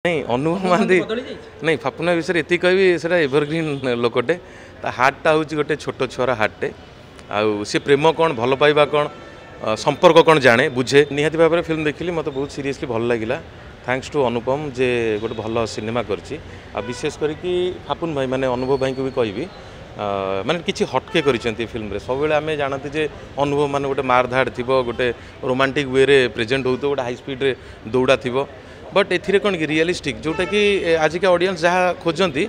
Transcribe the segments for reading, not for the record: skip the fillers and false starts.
ନାଇଁ, ଅନୁଭବ ମହାନ୍ତି ନାଇଁ, ଫାପୁନା ବିଷୟରେ ଏତିକି କହିବି, ସେଇଟା ଏଭରଗ୍ରିନ୍ ଲୋକଟେ। ତା ହାର୍ଟଟା ହେଉଛି ଗୋଟେ ଛୋଟ ଛୁଆର ହାର୍ଟଟେ, ଆଉ ସେ ପ୍ରେମ କ'ଣ, ଭଲ ପାଇବା କ'ଣ, ସମ୍ପର୍କ କ'ଣ ଜାଣେ, ବୁଝେ। ନିହାତି ଭାବରେ ଫିଲ୍ମ ଦେଖିଲି, ମୋତେ ବହୁତ ସିରିୟସଲି ଭଲ ଲାଗିଲା। Thanks two ଅନୁପମ ଯେ ଗୋଟେ ଭଲ ସିନେମା କରିଛି। ଆଉ ବିଶେଷ କରିକି ଫାପୁନ ଭାଇ, ମାନେ ଅନୁଭବ ଭାଇଙ୍କୁ ବି କହିବି, ମାନେ କିଛି ହଟକେ କରିଛନ୍ତି ଫିଲ୍ମରେ। ସବୁବେଳେ ଆମେ ଜାଣନ୍ତି ଯେ ଅନୁଭବ ମାନେ ଗୋଟେ ମାରଧାଡ଼ ଥିବ, ଗୋଟେ ରୋମାଣ୍ଟିକ୍ ୱେରେ ପ୍ରେଜେଣ୍ଟ ହେଉଥିବ, ଗୋଟେ ହାଇ ସ୍ପିଡ଼ରେ ଦୌଡ଼ା ଥିବ। ବଟ୍ ଏଥିରେ କ'ଣ କି ରିଅଲିଷ୍ଟିକ୍, ଯେଉଁଟାକି ଆଜିକା ଅଡ଼ିଏନ୍ସ ଯାହା ଖୋଜନ୍ତି,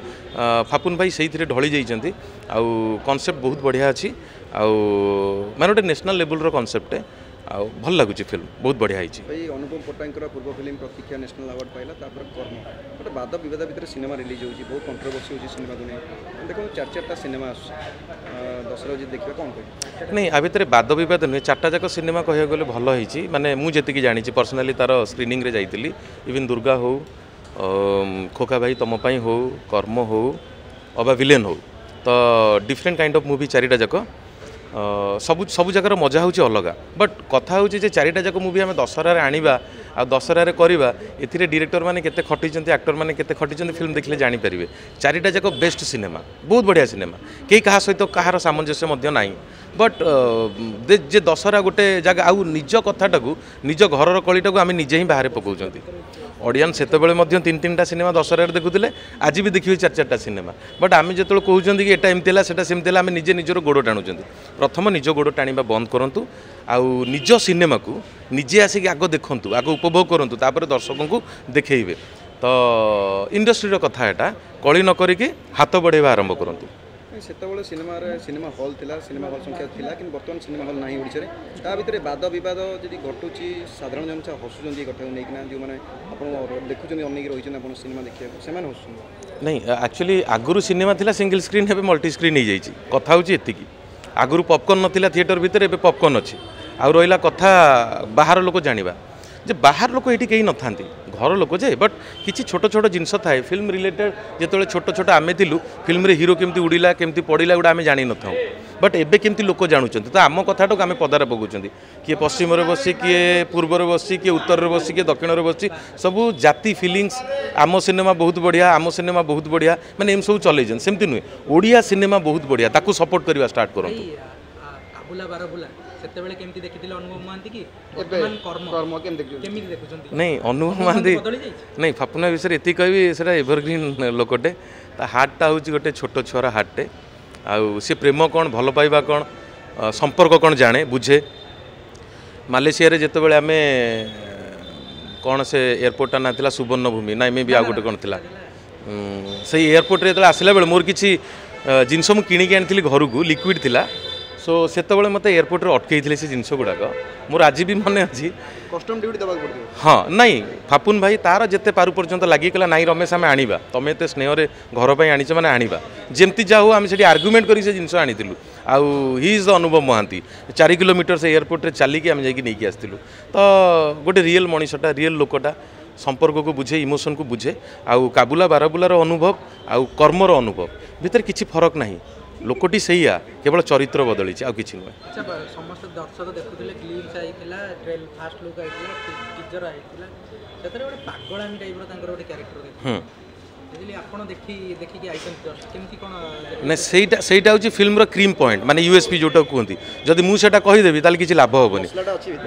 ଫାପୁନ ଭାଇ ସେଇଥିରେ ଢଳି ଯାଇଛନ୍ତି। ଆଉ କନସେପ୍ଟ ବହୁତ ବଢ଼ିଆ ଅଛି, ଆଉ ମାନେ ଗୋଟେ ନ୍ୟାସନାଲ୍ ଲେବୁଲ୍ର କନସେପ୍ଟ, ଆଉ ଭଲ ଲାଗୁଛି। ଫିଲ୍ମ ବହୁତ ବଢ଼ିଆ ହେଇଛି। ଭାଇ, ଅନୁପମ ପଟ୍ଟନାୟକଙ୍କର ପୂର୍ବ ଫିଲ୍ମ ପ୍ରତୀକ୍ଷା ନ୍ୟାସନାଲ୍ ଆୱାର୍ଡ଼ ପାଇଲା, ତାପରେ କର୍ମ। ଗୋଟେ ବାଦ ବିବାଦ ଭିତରେ ସିନେମା ରିଲିଜ୍ ହେଉଛି, ବହୁତ କଣ୍ଟ୍ରୋଭର୍ସି ହେଉଛି ସିନେମାକୁ ନେଇ। ଦେଖନ୍ତୁ, ଚାରି ଚାରିଟା ସିନେମା ଆସୁଛି ଦଶହରା, ଯଦି ଦେଖିବା, କ'ଣ କହିବେ? ନାଇଁ, ଆ ଭିତରେ ବାଦ ବିବାଦ ନୁହେଁ। ଚାରିଟା ଯାକ ସିନେମା କହିବାକୁ ଗଲେ ଭଲ ହେଇଛି। ମାନେ ମୁଁ ଯେତିକି ଜାଣିଛି, ପର୍ସନାଲି ତାର ସ୍କ୍ରିନିଂରେ ଯାଇଥିଲି। ଇଭିନ୍ ଦୁର୍ଗା ହଉ, ଖୋକା ଭାଇ ତମ ପାଇଁ ହଉ, କର୍ମ ହଉ ଅବା ଭିଲେନ୍ ହଉ, ତ ଡିଫରେଣ୍ଟ କାଇଣ୍ଡ ଅଫ୍ ମୁଭି ଚାରିଟା ଯାକ। ସବୁ ସବୁ ଜାଗାର ମଜା ହେଉଛି ଅଲଗା। ବଟ୍ କଥା ହେଉଛି ଯେ ଚାରିଟା ଯାକ ମୁଭି ଆମେ ଦଶହରାରେ ଆଣିବା ଆଉ ଦଶହରାରେ କରିବା, ଏଥିରେ ଡିରେକ୍ଟର ମାନେ କେତେ ଖଟିଛନ୍ତି, ଆକ୍ଟର ମାନେ କେତେ ଖଟିଛନ୍ତି, ଫିଲ୍ମ ଦେଖିଲେ ଜାଣିପାରିବେ। ଚାରିଟା ଯାକ ବେଷ୍ଟ ସିନେମା, ବହୁତ ବଢ଼ିଆ ସିନେମା। କେହି କାହା ସହିତ କାହାର ସାମଞ୍ଜସ୍ୟ ମଧ୍ୟ ନାହିଁ। ବଟ୍ ଯେ ଦଶହରା ଗୋଟେ ଜାଗା, ଆଉ ନିଜ କଥାଟାକୁ, ନିଜ ଘରର କଳିଟାକୁ ଆମେ ନିଜେ ହିଁ ବାହାରେ ପକାଉଛନ୍ତି। ଅଡ଼ିଏନ୍ସ ସେତେବେଳେ ମଧ୍ୟ ତିନି ତିନିଟା ସିନେମା ଦଶହରାରେ ଦେଖୁଥିଲେ, ଆଜି ବି ଦେଖିବେ ଚାରି ଚାରିଟା ସିନେମା। ବଟ୍ ଆମେ ଯେତେବେଳେ କହୁଛନ୍ତି କି ଏଇଟା ଏମିତି ହେଲା, ସେଟା ସେମିତି ହେଲା, ଆମେ ନିଜେ ନିଜର ଗୋଡ଼ ଟାଣୁଛନ୍ତି। ପ୍ରଥମ ନିଜ ଗୋଡ଼ ଟାଣିବା ବନ୍ଦ କରନ୍ତୁ, ଆଉ ନିଜ ସିନେମାକୁ ନିଜେ ଆସିକି ଆଗ ଦେଖନ୍ତୁ, ଆଗ ଉପଭୋଗ କରନ୍ତୁ, ତାପରେ ଦର୍ଶକଙ୍କୁ ଦେଖେଇବେ। ତ ଇଣ୍ଡଷ୍ଟ୍ରିର କଥା ଏଟା, କଳି ନ କରିକି ହାତ ବଢ଼େଇବା ଆରମ୍ଭ କରନ୍ତୁ। ସେତେବେଳେ ସିନେମାରେ ସିନେମା ହଲ୍ ଥିଲା, ସିନେମା ହଲ୍ ସଂଖ୍ୟା ଥିଲା, କିନ୍ତୁ ବର୍ତ୍ତମାନ ସିନେମା ହଲ୍ ନାହିଁ ଓଡ଼ିଶାରେ। ତା ଭିତରେ ବାଦ ବିବାଦ ଯଦି ଘଟୁଛି, ସାଧାରଣ ଜନତା ହସୁଛନ୍ତି ଏ କଥାକୁ ନେଇକିନା। ଯେଉଁମାନେ ଆପଣ ଦେଖୁଛନ୍ତି, ଅନେଇକି ରହିଛନ୍ତି ଆପଣ ସିନେମା ଦେଖିବାକୁ, ସେମାନେ ହସୁଛନ୍ତି। ନାଇଁ, ଆକ୍ଚୁଆଲି ଆଗରୁ ସିନେମା ଥିଲା ସିଙ୍ଗଲ ସ୍କ୍ରିନ୍, ଏବେ ମଲ୍ଟି ସ୍କ୍ରିନ୍ ହେଇଯାଇଛି। କଥା ହେଉଛି ଏତିକି, ଆଗରୁ ପପକର୍ନ ନଥିଲା ଥିଏଟର ଭିତରେ, ଏବେ ପପକର୍ନ ଅଛି। ଆଉ ରହିଲା କଥା ବାହାର ଲୋକ ଜାଣିବା, ଯେ ବାହାର ଲୋକ ଏଇଠି କେହି ନଥାନ୍ତି, ଘର ଲୋକ ଯେ। ବଟ୍ କିଛି ଛୋଟ ଛୋଟ ଜିନିଷ ଥାଏ ଫିଲ୍ମ ରିଲେଟେଡ଼। ଯେତେବେଳେ ଛୋଟ ଛୋଟ ଆମେ ଥିଲୁ, ଫିଲ୍ମରେ ହିରୋ କେମିତି ଉଡ଼ିଲା, କେମିତି ପଡ଼ିଲା, ଗୁଡ଼ା ଆମେ ଜାଣିନଥାଉ। ବଟ୍ ଏବେ କେମିତି ଲୋକ ଜାଣୁଛନ୍ତି, ତ ଆମ କଥାଟାକୁ ଆମେ ପଦାରେ ପକାଉଛନ୍ତି। କିଏ ପଶ୍ଚିମରେ ବସି, କିଏ ପୂର୍ବରେ ବସି, କିଏ ଉତ୍ତରରେ ବସି, କିଏ ଦକ୍ଷିଣରେ ବସି, ସବୁ ଜାତି ଫିଲିଙ୍ଗସ୍, ଆମ ସିନେମା ବହୁତ ବଢ଼ିଆ, ଆମ ସିନେମା ବହୁତ ବଢ଼ିଆ, ମାନେ ଏମିତି ସବୁ ଚଲେଇଛନ୍ତି। ସେମିତି ନୁହେଁ, ଓଡ଼ିଆ ସିନେମା ବହୁତ ବଢ଼ିଆ, ତାକୁ ସପୋର୍ଟ କରିବା ଷ୍ଟାର୍ଟ କରନ୍ତୁ। କାବୁଲା ବାରବୁଲା ସେତେବେଳେ କେମିତି ଦେଖିଥିଲେ ଅନୁଭବ ମହାନ୍ତି କି, ବର୍ତ୍ତମାନ କର୍ମ କେମିତି ଦେଖୁଛନ୍ତି? ନାଇଁ, ଅନୁଭବ ମହାନ୍ତି ନାଇଁ, ଫାପୁନା ବିଷୟରେ ଏତିକି କହିବି, ସେଇଟା ଏଭରଗ୍ରିନ୍ ଲୋକଟେ। ତା ହାର୍ଟଟା ହେଉଛି ଗୋଟେ ଛୋଟ ଛୁଆର ହାର୍ଟଟେ, ଆଉ ସେ ପ୍ରେମ କ'ଣ, ଭଲ ପାଇବା କ'ଣ, ସମ୍ପର୍କ କ'ଣ ଜାଣେ, ବୁଝେ। ମାଲେସିଆରେ ଯେତେବେଳେ ଆମେ କ'ଣ ସେ ଏୟାରପୋର୍ଟଟା ନାଁ ଥିଲା ସୁବର୍ଣ୍ଣଭୂମି ନା ଏମେ ବି ଆଉ ଗୋଟେ କ'ଣ ଥିଲା, ସେଇ ଏୟାରପୋର୍ଟରେ ଯେତେବେଳେ ଆସିଲା ବେଳେ ମୋର କିଛି ଜିନିଷ ମୁଁ କିଣିକି ଆଣିଥିଲି ଘରକୁ, ଲିକ୍ୱିଡ଼ ଥିଲା। ସୋ ସେତେବେଳେ ମୋତେ ଏୟାରପୋର୍ଟରେ ଅଟକେଇଥିଲେ ସେ ଜିନିଷ ଗୁଡ଼ାକ, ମୋର ଆଜି ବି ମନେ ଅଛି। କଷ୍ଟମ୍ ଡ୍ୟୁଟି ଦେବାକୁ ପଡ଼ିଥିବ। ହଁ, ନାଇଁ, ଫାପୁନ ଭାଇ ତାର ଯେତେ ପାରୁ ପର୍ଯ୍ୟନ୍ତ ଲାଗିଗଲା, ନାଇଁ ରମେଶ, ଆମେ ଆଣିବା, ତମେ ଏତେ ସ୍ନେହରେ ଘର ପାଇଁ ଆଣିଛ ମାନେ ଆଣିବା। ଯେମିତି ଯାହା ହଉ ଆମେ ସେଠି ଆର୍ଗ୍ୟୁମେଣ୍ଟ କରିକି ସେ ଜିନିଷ ଆଣିଥିଲୁ। ଆଉ he is the Anubhav Mohanty. 4 kilometre ସେ ଏୟାରପୋର୍ଟରେ ଚାଲିକି ଆମେ ଯାଇକି ନେଇକି ଆସିଥିଲୁ। ତ ଗୋଟେ ରିଏଲ୍ ମଣିଷଟା, ରିଏଲ୍ ଲୋକଟା, ସମ୍ପର୍କକୁ ବୁଝେ, ଇମୋସନକୁ ବୁଝେ। ଆଉ କାବୁଲା ବାରବୁଲାର ଅନୁଭବ ଆଉ କର୍ମର ଅନୁଭବ ଭିତରେ କିଛି ଫରକ ନାହିଁ। ଲୋକଟି ସେଇଆ, କେବଳ ଚରିତ୍ର ବଦଳିଛି, ଆଉ କିଛି ନୁହେଁ। ଆଚ୍ଛା, ସମସ୍ତେ ଦର୍ଶକ ଦେଖୁଥିଲେ, ଗ୍ଲିମ୍ସ ଆଇଥିଲା, ଟ୍ରେଲ ଫାଷ୍ଟ ଲୁକ୍ ଆଇଥିଲା, ଟିଜର ଆଇଥିଲା, ସେଥିରେ ଗୋଟେ ପାଗଳାମି ଟାଇପ୍ର ତାଙ୍କର ଗୋଟେ କ୍ୟାରେକ୍ଟର ଦେଖିଲି। ଆପଣ ଦେଖି ଦେଖିକି ଆଇଛନ୍ତି ଜଷ୍ଟ, କେମିତି କ'ଣ? ନାଇଁ, ସେଇଟା ହେଉଛି ଫିଲ୍ମର କ୍ରିମ୍ ପଏଣ୍ଟ, ମାନେ ୟୁଏସ୍ପି ଯେଉଁଟାକୁ କୁହନ୍ତି। ଯଦି ମୁଁ ସେଇଟା କହିଦେବି ତାହେଲେ କିଛି ଲାଭ ହେବନି।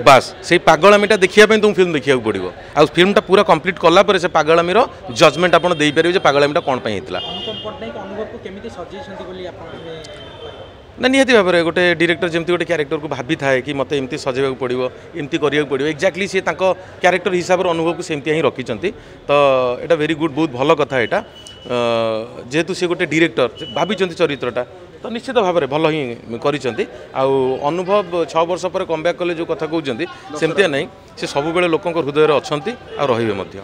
ବାସ୍, ସେଇ ପାଗଳାମିଟା ଦେଖିବା ପାଇଁ ତୁମକୁ ଫିଲ୍ମ ଦେଖିବାକୁ ପଡ଼ିବ। ଆଉ ଫିଲ୍ମଟା ପୁରା କମ୍ପ୍ଲିଟ୍ କଲା ପରେ ସେ ପାଗଳାମିର ଜଜମେଣ୍ଟ ଆପଣ ଦେଇପାରିବେ ଯେ ପାଗଳାମିଟା କ'ଣ ପାଇଁ ହେଇଥିଲା। ଅନୁପମ ପଟ୍ଟନାୟକ ଅନୁଭବକୁ କେମିତି ସଜେଇଛନ୍ତି ବୋଲି ଆପଣ ଆମେ? ନା, ନିହାତି ଭାବରେ ଗୋଟେ ଡିରେକ୍ଟର ଯେମିତି ଗୋଟେ କ୍ୟାରେକ୍ଟରକୁ ଭାବିଥାଏ କି ମୋତେ ଏମିତି ସଜେଇବାକୁ ପଡ଼ିବ, ଏମିତି କରିବାକୁ ପଡ଼ିବ, ଏକ୍ଜାକ୍ଟଲି ସିଏ ତାଙ୍କ କ୍ୟାରେକ୍ଟର ହିସାବରେ ଅନୁଭବକୁ ସେମିତି ହିଁ ରଖିଛନ୍ତି। ତ ଏଇଟା ଭେରି ଗୁଡ୍, ବହୁତ ଭଲ କଥା ଏଇଟା। ଯେହେତୁ ସିଏ ଗୋଟେ ଡିରେକ୍ଟର, ଭାବିଛନ୍ତି ଚରିତ୍ରଟା, ତ ନିଶ୍ଚିତ ଭାବରେ ଭଲ ହିଁ କରିଛନ୍ତି। ଆଉ ଅନୁଭବ 6 ବର୍ଷ ପରେ କମ୍ବ୍ୟାକ୍ କଲେ ଯେଉଁ କଥା କହୁଛନ୍ତି, ସେମିତିଆ ନାହିଁ, ସେ ସବୁବେଳେ ଲୋକଙ୍କ ହୃଦୟରେ ଅଛନ୍ତି ଆଉ ରହିବେ ମଧ୍ୟ।